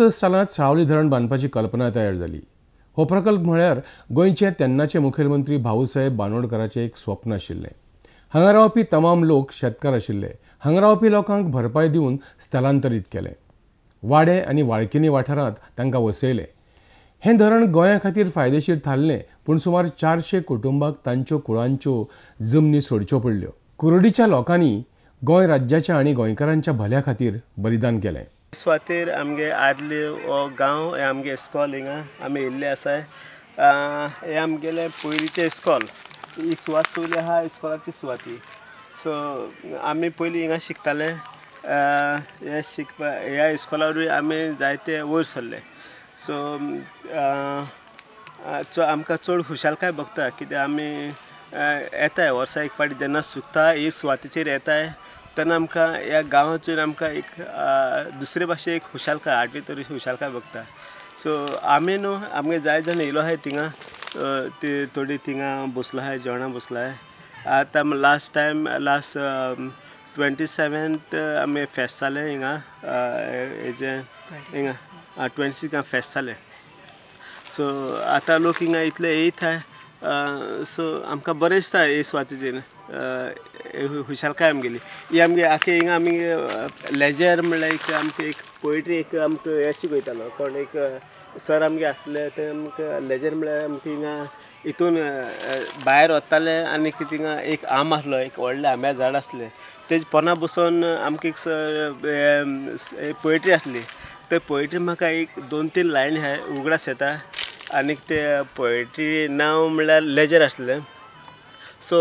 सालांत सावली धरण बांदपाची कल्पना तयार जाली. हो प्रकल्प म्हळ्यार गोंयचे तेन्नाचे मुखेलमंत्री भाऊसाहेब बांदोडकराचें एक स्वप्न आशिल्लें. हांगा रावपी तमाम लोक शेतकार आशिल्ले. हांगा रावपी लोकांक भरपाय दिवन स्थलांतरीत केले. वाडे आनी वाळकिनी वाठारांत तांकां वसयले. हें धरण गोंया खातीर फायदेशीर थारलें, पूण सुमार 400 कुटुंबांक तांच्यो कुळांच्यो जमनी सोडच्यो पडल्यो. कुर्डीच्या लोकांनी गोंय राज्याच्या आनी गोंयकारांच्या भल्या खातीर बलिदान केलें. सुवातेर आमगे आदले हो गांव, हे आमगे इस्कॉल हिंगा आमी येयल्ले आसाय. हे आमगेले पयलींचें इस्कॉल, ही सुवात सगळी आहा इस्कॉलाची सुवाती. सो आमी पयलीं हिंगा शिकताले. हे शिकपा ह्या इस्कॉलारूय आमी जायते वयर सरले. सो आमकां चड खुशालकाय भोगता कित्याक आमी येताय वर्सा एक पाटी जेन्ना सुकता ही सुवातेचेर येताय तेन्ना आमकां ह्या गांवाचेर आमकां एक दुसरे भाशे एक खुशालकाय, आठवी तरी खुशालकाय भोगता. सो आमी न्हू आमगे जाय जाण येयलो आहाय थिंगा, ते थोडी थिंगा बसलो आहाय, जेवणां बसलो आहाय. आतां लास्ट टायम लास्ट 27 आमी फेस्त जालें हिंगा, हेजें हिंगा 26 फेस्त जालें. सो आतां लोक हिंगा इतले येयत आहाय. सो आमकां बरें दिसता हे सुवातेचेर, खुशालकाय आमगेली. ही आमगे आखे हिंगा आमी लेजर म्हणल्यार एक आमकां एक पोयट्री एक आमकां हें शिकयतालो कोण एक सर आमगे आसले, ते आमकां लेजर म्हणल्यार आमकां हिंगा हितून भायर वताले आनी थिंगा एक आम आसलो, एक व्हडलें आंब्या झाड आसलें, तेजे पोना बसोन आमकां एक सर पोयट्री आसली. ते पोयट्री म्हाका एक 2-3 लायन आहाय उगडास येता. आनीक ते पोयट्री नांव म्हणल्यार लेजर आसलें. सो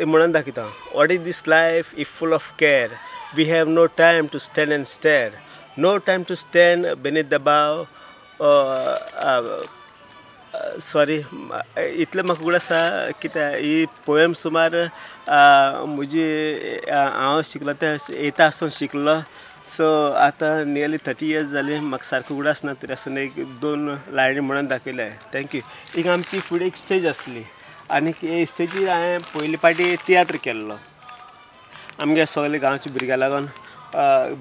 म्हणून दाखयता, what is this life if full of care, we have no time to stand and stare, no time to stand beneath the bough. Sorry इतलें म्हाका उगडास आसा कित्याक ही पोयम सुमार म्हजी हांव शिकलो तें येता आसतना शिकलो. सो आतां नियरली 30 इयर्स जाली, म्हाका सारको उगडास ना, तरी आसतना एक 2 लायनी म्हणून दाखयलें. Thank you. एक आमची फुडें एक स्टेज आसली आनी हे स्टेजीर हांवें पयले पाटी तियात्र केल्लो आमगे सगळे गांवच्या भुरग्यां लागून.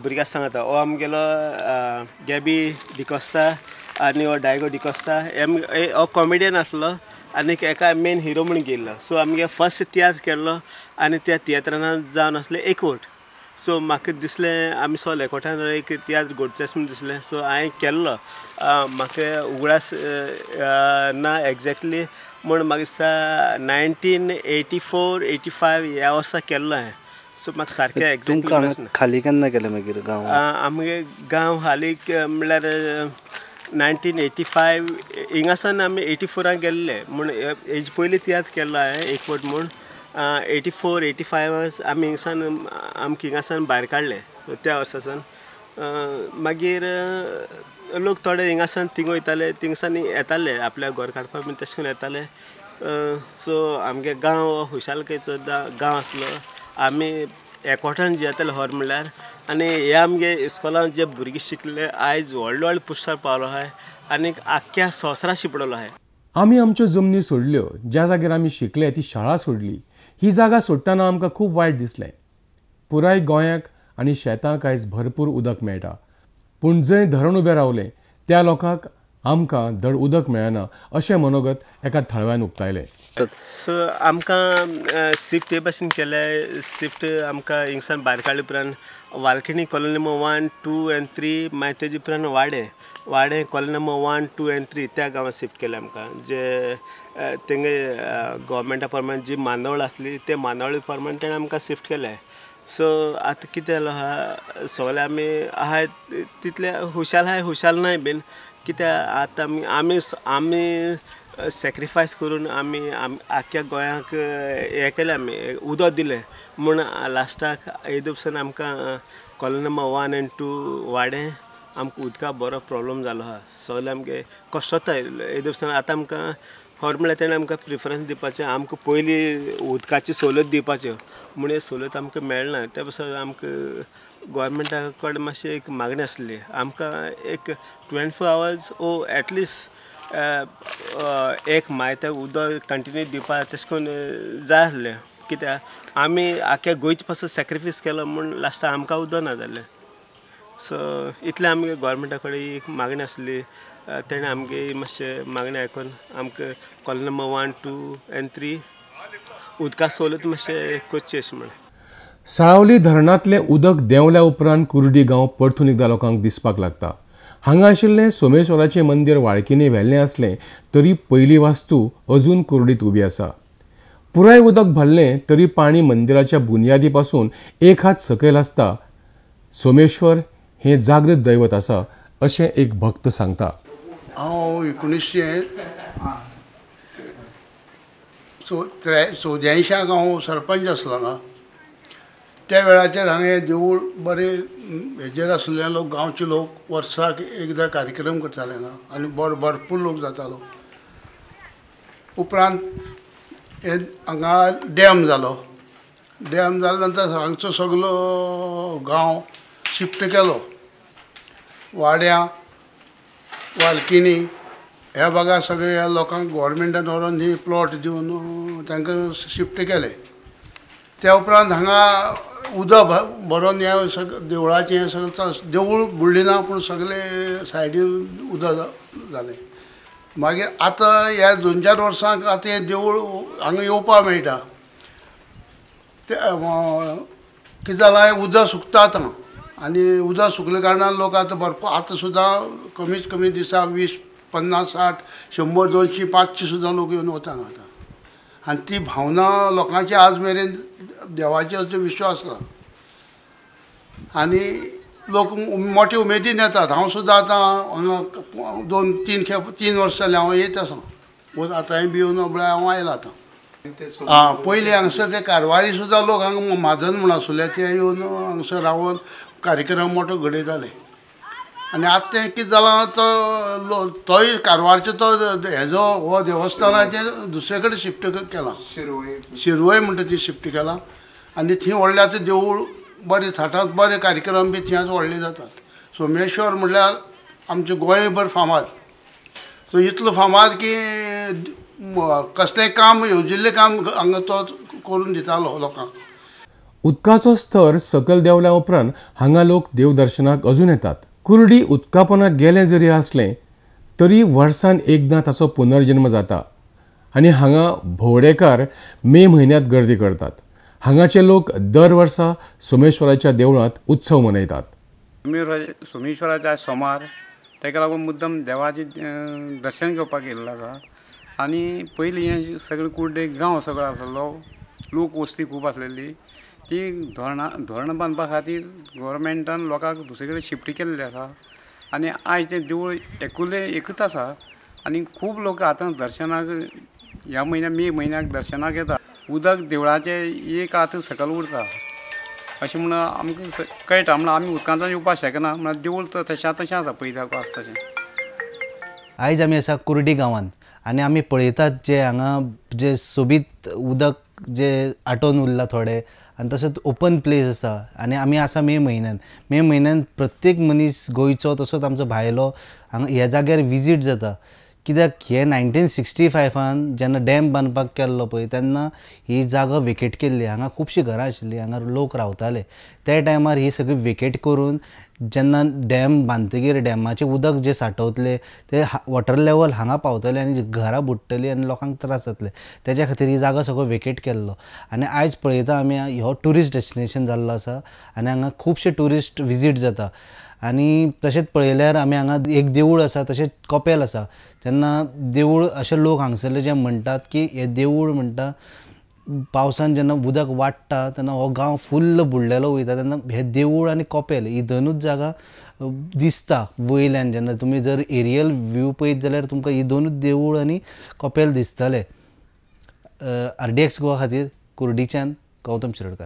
भुरग्यां सांगता हो आमगेलो गॅबी डिकोस्ता आनी हो डायगो डिकोस्ता, हो कॉमेडियन आसलो आनी एका मेन हिरो म्हूण गेल्लो. सो आमगे फर्स्ट तियात्र केल्लो आनी त्या तियात्रान जावन आसलें एकवट. सो म्हाका दिसलें आमी सगळे एकवटान एक तियात्र घडचें अशें म्हूण दिसलें. सो हांवें केल्लो. म्हाका उगडास ना एग्जॅक्टली म्हूण म्हाका दिसता 1984 85 ह्या वर्सा केल्लो हांवें. सो म्हाका सारकें एग्जॅक्टली. खाली केन्ना केलें मागीर गांव? आमगे गांव हाली म्हणल्यार 1985 हिंगासान आमी 84 गेल्ले म्हूण हेजे पयलीं तियात्र केल्लो हांवें एकवट म्हूण. 84 85 आमी हिंगसान आमकां हिंगासान भायर काडले त्या वर्सासान. मागीर लोक थोडे हिंगासान थिंग वयताले, थिंगसान येताले आपल्या घर काडपाक बीन तशें करून येताले. सो आमगे गांव खुशालकायेचो गांव आसलो. आमी एकवटान जियेताले हर म्हणल्यार. आनी हे आमगे इस्कॉलान जे भुरगे शिकले आयज व्हडले व्हडले पुस्तार पावलो आहाय आनी आख्ख्या संवसारा शिंपडलो आहाय. आमी आमच्यो जमनी सोडल्यो, ज्या जाग्यार आमी शिकले ती शाळा सोडली. ही जागा सोडटना आमकां खूब वायट दिसलें. पुराय गोंयाक आनी शेतांक आयज भरपूर उदक मेळटा, पूण जंय धरण उबें रावलें त्या लोकांक आमकां धड उदक मेळना अशें मनोगत एका थळव्यान उक्तायलें. सो आमकां शिफ्ट हे भाशेन केलें. शिफ्ट आमकां हिंगसान भायर काडले उपरांत वालकिणी कॉलनी नंबर 1, 2 आनी 3, मागीर तेजे उपरांत वाडें, वाडें कॉलनी नंबर 1, 2 आनी 3 त्या गांवांत शिफ्ट केलें आमकां. जे तेंगे गोवोरमेंटा प्रमाण जी मांदावळ आसली ते मांदावळी प्रमाण तेणें आमकां शिफ्ट केलें. सो आतां कितें जालें आहा, सगळे आमी आहाय तितले हुशाल आहाय, हुशाल नाय बीन कित्याक आतां आमी आमी सॅक्रिफायस करून आमी आख्ख्या गोंयांक हें केलें, आमी उदक दिलें म्हूण लास्टाक येदो पसून आमकां कॉलनी नंबर 1 आनी 2 वाडें आमकां उदका बरो प्रोब्लम जालो आहा. सगळे आमगे कश्टता येदो पसून. आतां आमकां खरें म्हळ्यार तेणें आमकां प्रिफरन्स दिवपाचें, आमकां पयलीं उदकाची सवलत दिवपाच्यो म्हूण हे सवलत आमकां मेळना. त्या पासून आमकां गोवोरमेंटा कडेन मातशी एक मागणी आसली आमकां एक 24 आवर्स ओ एटलिस्ट एक मायत्या उदक कंटिन्यू दिवपाक तशें करून जाय आसलें. कित्याक आमी आख्ख्या गोंयचे पासून सॅक्रिफायस केलो म्हूण लास्टाक आमकां उदक ना जालें. सो इतलें आमगे गोवोरमेंटा कडेन एक मागणी आसली, तेणें आमगे मातशें मागणी आयकून आमकां कॉलनी नंबर 1, 2 आनी 3 उदका सवलत मातशें करचें अशें म्हळें. साळावली धरणांतलें उदक देंवल्या उपरांत कुर्डी गांव परतून एकदां लोकांक दिसपाक लागता. हांगा आशिल्लें सोमेश्वराचें मंदीर वाळकींनी व्हेल्लें आसलें तरी पयली वास्तू अजून कुर्डीत उबी आसा. पुराय उदक भरलें तरी पाणी मंदिराच्या बुनियादी पासून एक हात सकयल आसता. सोमेश्वर हें जागृत दैवत आसा अशें एक भक्त सांगता. हांव 1984 हांव सरपंच आसलो हांगा. त्या वेळाचेर हांगा हें देवूळ बरें हेजेर आसलें. लोक गांवचे लोक वर्साक एकदां कार्यक्रम करताले हांगा आनी बरो भरपूर लोक जातालो. उपरांत हे हांगा डॅम जालो. डॅम जाल्या नंतर हांगचो सगलो गांव शिफ्ट केलो. वाड्यां वालकिनी ह्या भागार सगळे लोकांक गोवोरमेंटान व्हरोन ही प्लॉट दिवन तांकां शिफ्ट केले. त्या उपरांत हांगा उदक भरोन हें सगळें देवळाचें हें सगळें देवूळ बुडलें ना पूण सगळे सायडीन उदक जालें. मागीर आतां ह्या 2-4 वर्सांक आतां हें देवूळ हांगा येवपाक मेळटा. तें कितें जालां, उदक सुकता आतां आनी उदक सुकल्या कारणान लोक आतां भरपूर आतां सुद्दां कमीत कमी दिसा 20, 50, 60, 100, 200, 500 सुद्दां लोक येवन वता हांगा आतां. आनी ती भावना लोकांची आज मेरेन देवाचेर असो विश्वास आसा आनी लोक मोठे उमेदीन येतात. हांव सुद्दां आतां हांगा 2-3 खेप 3 वर्सां जालीं हांव येत आसा. आतांय बी येवन म्हळ्यार हांव आयलां आतां. आं, पयलीं हांगसर ते कारवारी सुद्दां लोक हांगा म्हाजन म्हूण आसले ते येवन हांगसर रावन कार्यक्रम मोठो घडयताले. आनी आतां तें कितें जालां, तो तोय कारवारचो तो हेजो हो देवस्थानाचें दुसरे कडेन शिफ्ट केलां. शिरवय म्हणटा ती शिफ्ट केलां आनी थंय व्हडलें आतां देवूळ बरें थाटांत बरे कार्यक्रम बी थंयच व्हडले जातात. सोमेश्वर म्हणल्यार आमचें गोंयभर फामाद. सो इतलो फामाद की कसलें काम येवजिल्लें काम हांगा तो करून दितालो लोकांक. उदकाचो स्तर सकयल देंवल्या उपरांत हांगा लोक देवदर्शनाक अजून येतात. कुर्डी उदकापणाक गेलें जरी आसलें तरी वर्सान एकदां ताचो पुनर्जन्म जाता आनी हांगा भोंवडेकार मे म्हयन्यांत गर्दी करतात. हांगाचे लोक दर वर्सा सोमेश्वराच्या देवळांत उत्सव मनयतात. सोमेश्वराचे आज सोमार, ताका लागून मुद्दम देवाचें दर्शन घेवपाक येयल्लो आसा. आनी पयलीं हें सगळें कुर्डे गांव सगळो आसलो, लोक वस्ती खूब आसलेली. ती धरणां बांदपा खातीर गोवोरमेंटान लोकांक दुसरे कडेन शिफ्ट केल्लें आसा आनी आयज तें देवूळ एकुलें एकूच आसा आनी खूब लोक आतां दर्शनाक ह्या म्हयन्याक मे म्हयन्याक दर्शनाक येता. उदक देवळाचें एक आतां सकयल उरता अशें म्हूण आमकां कळटा. म्हणल्यार आमी उदकांतल्यान येवपाक शकना, म्हणल्यार देवूळ तशें तशें आसा पयलीं आसा तशें. आयज आमी आसा कुर्डी गांवांत आनी आमी पळयतात जे हांगा जे सोबीत उदक जे आटोवन उरलां थोडें आनी तशेंच ओपन प्लेस आसा आनी आमी आसा मे म्हयन्यान. मे म्हयन्यान प्रत्येक मनीस गोंयचो तसोच आमचो भायलो हांगा ह्या जाग्यार विजीट जाता. कित्याक हे 1965 जेन्ना डॅम बांदपाक केल्लो पळय तेन्ना ही जागा वेकेट केल्ली. हांगा खुबशीं घरां आशिल्लीं, हांगा लोक रावताले. त्या टायमार ही सगळी वेकेट करून जेन्ना डॅम बांदतगीर डॅमाचें उदक जें सांठवतलें तें वॉटर लेवल हांगा पावतलें आनी घरां बुडटलीं आनी लोकांक त्रास जातले. तेज्या खातीर ही जागा सगळो वेकेट केल्लो आनी आयज पळयता आमी हो ट्युरिस्ट डेस्टिनेशन जाल्लो आसा आनी हांगा खुबशे ट्युरिस्ट विजीट जाता. आनी तशेंच पळयल्यार आमी हांगा एक देवूळ आसा, तशेंच कपेल आसा. तेन्ना देवूळ अशे लोक हांगसरले जे म्हणटात की हें देवूळ म्हणटा पावसान जेन्ना उदक वाडटा तेन्ना हो गांव फुल्ल बुडलेलो वयता, तेन्ना हें देवूळ आनी कपेल ही दोनूच जागा दिसता वयल्यान. जेन्ना तुमी जर एरियल व्यू पळयत जाल्यार तुमकां ही दोनूच देवूळ आनी कपेल दिसतलें. RDX Goa खातीर कुर्डीच्यान गौतम शिरोडकर.